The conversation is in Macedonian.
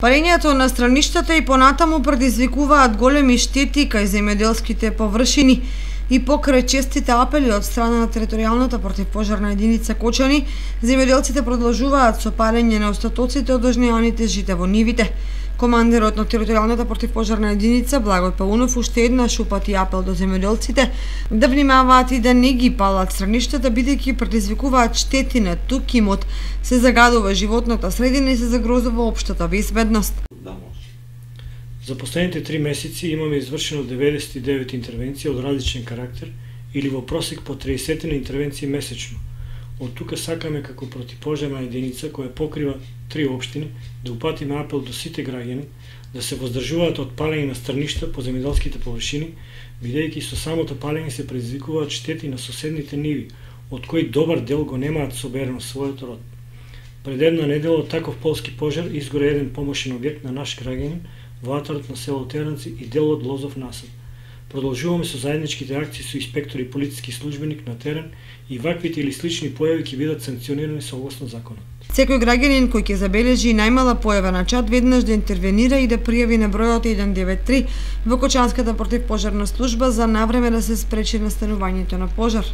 Палењето на страништата и понатаму предизвикуваат големи штети кај земјоделските површини и покрај честите апели од страна на територијалната противпожарна единица Кочани, земјоделците продолжуваат со палење на остатоците од ожнеаните жита во нивите. Командерот на територијалната противпожарна единица Благој Паунов уште еднаш упати апел до земјоделците да внимаваат и да не ги палат страништата, бидејќи предизвикуваат штети на тук имот, се загадува животната средина и се загрозува општата безбедност. За последните 3 месеци имаме извршено 99 интервенции од различен карактер или во просек по 30 интервенции месечно. Од тука сакаме како противпожарна единица која покрива 3 општини да упатиме апел до сите граѓани да се воздржуваат од палење на страништа по земјоделските површини, бидејќи со самото палење се предизвикуваат штети на соседните ниви, од кои добар дел го немаат соберено својот род. Пред една недела од таков полски пожар изгоре еден помошен објект на наш граѓанин во атарот на село Теранци и дел од лозов насад. Продолжуваме со заедничките акции со инспектори и полициски службеник на терен и ваквите или слични појави ќе бидат санкционирани согласно законот. Секој граѓанин кој ќе забележи најмала појава на чад веднаш да интервенира и да пријави на бројот 193 во Кочанската противпожарна служба за навреме да се спречи настанувањето на пожар.